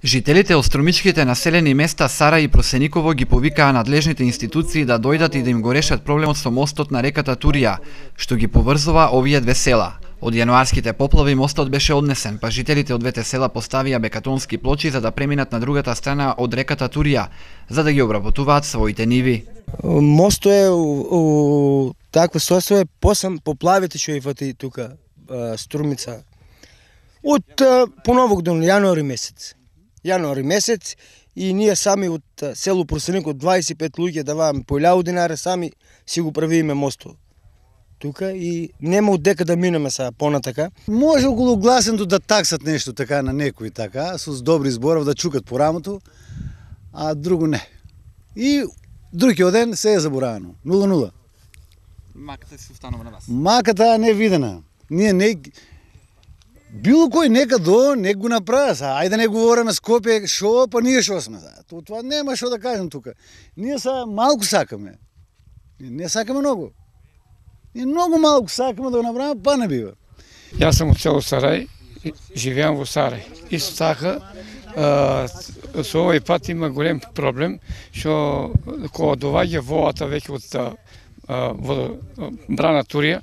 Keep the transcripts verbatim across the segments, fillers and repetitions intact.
Жителите од струмичките населени места Сара и Просениково ги повикаа надлежните институции да дојдат и да им го решат проблемот со мостот на реката Турија, што ги поврзува овие две села. Од јануарските поплави мостот беше однесен, па жителите од двете села поставија бекатонски плочи за да преминат на другата страна од реката Турија, за да ги обработуваат своите ниви. Мостот е у, у такво состојание посам поплавите што и фати тука Струмица. Од поновок до јануари месец. Јануари месец и ние сами од село Просеникот дваесет и пет луѓе даваме по илјаду динари, сами си го правиме мостот тука и нема од дека да минеме сега понатака. Може околу гласенто да таксат нешто така на некои така, со добри зборов да чукат по рамото, а друго не. И другиот ден се е заборавено. нула нула. Маката се останува на вас. Маката не е видена. Ние не било кој нека до не го направи. Ајде не говориме Скопје шо, па ние шо сме. То тоа нема што да кажем тука. Ние са малку сакаме. Ние не сакаме многу. Ние многу малку сакаме да го направиме, па не бива. Јас сум од село Сарај, живеам во Сарај. Исто така, со овој пат има голем проблем, што кога доваѓа водата веќе од брана Турија,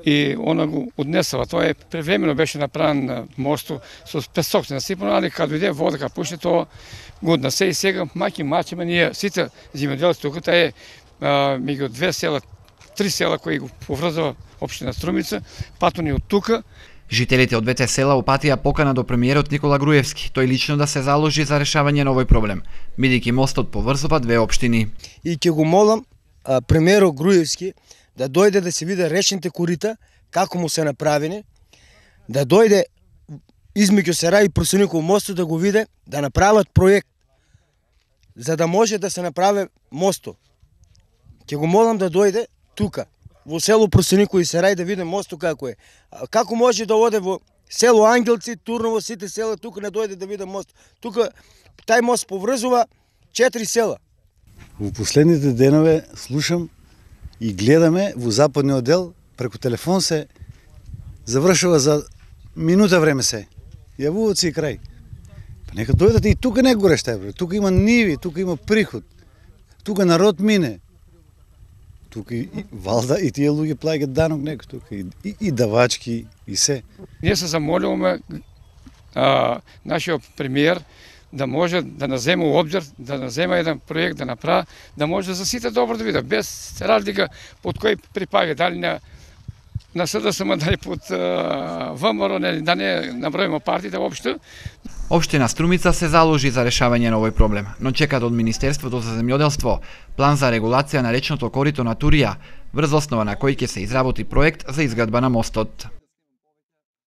и она го однесува. Тоа е превремено беше направен мостот со песок насипано, али кога дојде вода, кога пушти тоа го однесе и сега маки мачиме ние сите земјоделци тука, таа е меѓу две села, три села кои го поврзува општина Струмица, патот ни од тука. Жителите од двете села упатија покана до премиерот Никола Груевски, тој лично да се заложи за решавање на овој проблем, бидејќи мостот поврзува две општини. И ќе го молам премиерот Груевски да дојде да се види речните корита, како му се направени, да дојде измеѓу Сарај и Просениково мостот да го види, да направат проект, за да може да се направи мостот. Ќе го молам да дојде тука, во село Просениково и Сарај да види мостот како е. Како може да оде во село Ангелци, Турново, сите села, тука не дојде да види мост. Тука тај мост поврзува четири села. Во последните денове слушам и гледаме во западниот дел, преку телефон се завршува за минута време се. Јавуваат се и крај. Па нека дојдат и тука не го решта, тука има ниви, тука има приход. Тука народ мине. Тука и валда и тие луѓе плаќаат данок некој тука и, и, и давачки и се. Ние се замолуваме а, нашиот премиер да може да наземе у обзир, да наземе еден проект, да направи, да може за сите добро да види, без разлика под кој припаѓа, дали на на СДСМ, дали под ВМРО, да не наброиме партиите воопшто. Општина Струмица се заложи за решавање на овој проблем, но чекаат од Министерството за земјоделство план за регулација на речното корито на Турија, врз основа на кој ќе се изработи проект за изградба на мостот.